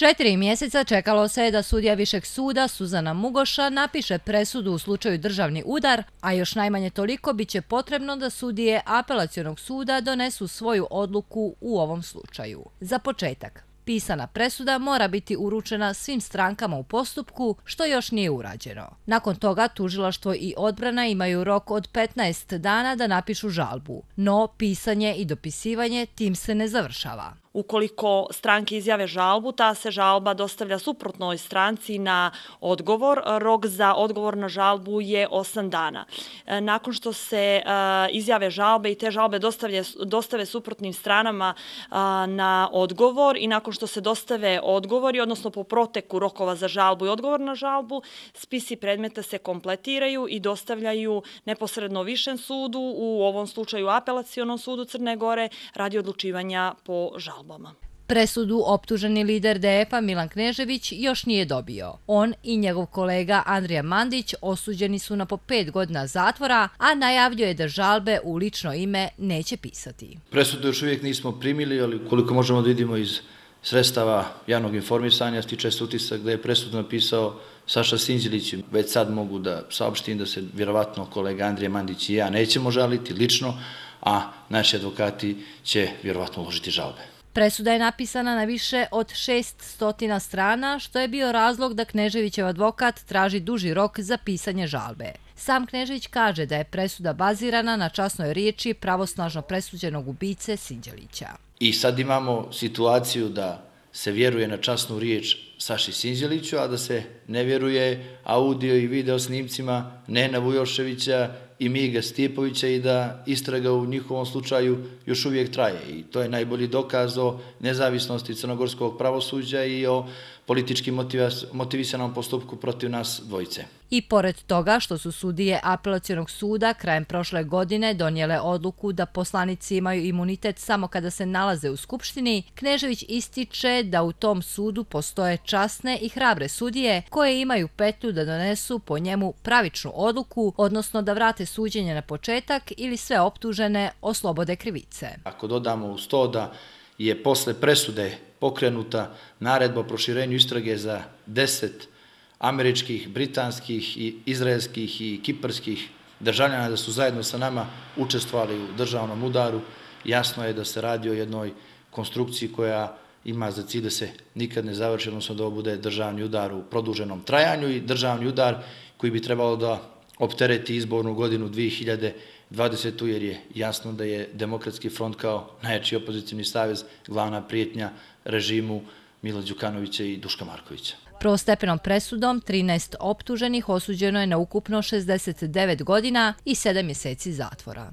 4 mjeseca čekalo se je da sudija Višeg suda Suzana Mugoša napiše presudu u slučaju državni udar, a još najmanje toliko bit će potrebno da sudije Apelacionog suda donesu svoju odluku u ovom slučaju. Za početak, pisana presuda mora biti uručena svim strankama u postupku, što još nije urađeno. Nakon toga tužilaštvo i odbrana imaju rok od 15 dana da napišu žalbu, no pisanje i dopisivanje tim se ne završava. Ukoliko stranke izjave žalbu, ta se žalba dostavlja suprotnoj stranci na odgovor. Rok za odgovor na žalbu je 8 dana. Nakon što se izjave žalbe i te žalbe dostave suprotnim stranama na odgovor i nakon što se dostave odgovori, odnosno po proteku rokova za žalbu i odgovor na žalbu, spisi predmeta se kompletiraju i dostavljaju neposredno Višem sudu, u ovom slučaju Apelacionom sudu Crne Gore, radi odlučivanja po žalbu. Presudu optuženi lider DF-a Milan Knežević još nije dobio. On i njegov kolega Andrija Mandić osuđeni su na po 5 godina zatvora, a najavljuje da žalbe u lično ime neće pisati. Presudu još uvijek nismo primili, ali koliko možemo da vidimo iz sredstava javnog informisanja, stiče se utisak da je presudu napisao Saša Sinđelić. Već sad mogu da saopštim da se vjerovatno kolega Andrija Mandić i ja nećemo žaliti lično, a naši advokati će vjerovatno uložiti žalbe. Presuda je napisana na više od 600 strana, što je bio razlog da Kneževićev advokat traži duži rok za pisanje žalbe. Sam Knežević kaže da je presuda bazirana na časnoj riječi pravosnažno presuđenog ubice Sinđelića. I sad imamo situaciju da se vjeruje na časnu riječ Saši Sinđeliću, a da se ne vjeruje audio i video snimcima Nena Vujoševića i Miga Stipovića i da istraga u njihovom slučaju još uvijek traje. I to je najbolji dokaz o nezavisnosti crnogorskog pravosuđa i o politički motivisanom postupku protiv nas dvojice. I pored toga što su sudije Apelacionog suda krajem prošle godine donijele odluku da poslanici imaju imunitet samo kada se nalaze u Skupštini, Knežević ističe da u tom sudu postoje časne i hrabre sudije koje imaju petlju da donesu po njemu pravičnu odluku, odnosno da vrate suđenje na početak ili sve optužene oslobode krivice. Ako dodamo uz to da je posle presude pokrenuta naredba o proširenju istrage za 10 američkih, britanskih, i izraelskih i kiparskih državljana da su zajedno sa nama učestvovali u državnom udaru, jasno je da se radi o jednoj konstrukciji koja ima za cilj da se nikad ne završi, odnosno da ovo bude državni udar u produženom trajanju i državni udar koji bi trebalo da optereti izbornu godinu 2020. jer je jasno da je Demokratski front kao najjači opozicijni savez glavna prijetnja režimu Mila Đukanovića i Duška Markovića. Prvostepenom presudom 13 optuženih osuđeno je na ukupno 69 godina i 7 mjeseci zatvora.